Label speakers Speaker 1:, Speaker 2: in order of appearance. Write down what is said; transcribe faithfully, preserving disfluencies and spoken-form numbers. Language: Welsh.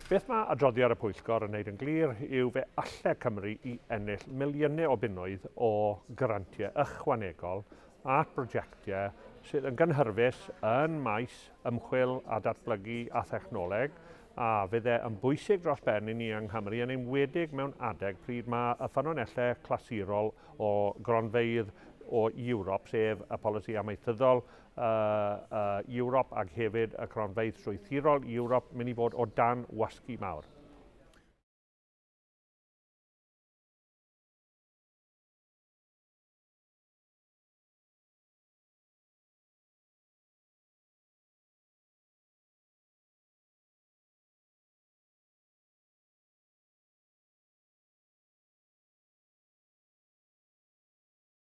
Speaker 1: Beth mae adroddiad y pwyllgor yn wneud yn glir yw fe alle Cymru i ennill miliynau o bunnoedd o grantiau ychwanegol at brosiectiau sydd yn gynhyrfus yn maes ymchwil a datblygu a thechnoleg, a fydde yn bwysig dros ben i ni yng Nghymru, yn enwedig mewn adeg pryd mae y ffynonellau clasurol o gronfeydd o Ewrop, sef y polisi amaethyddol uh, uh, Ewrop ac hefyd y cronfeydd strwythurol Ewrop, mynd i fod o dan wasgu mawr.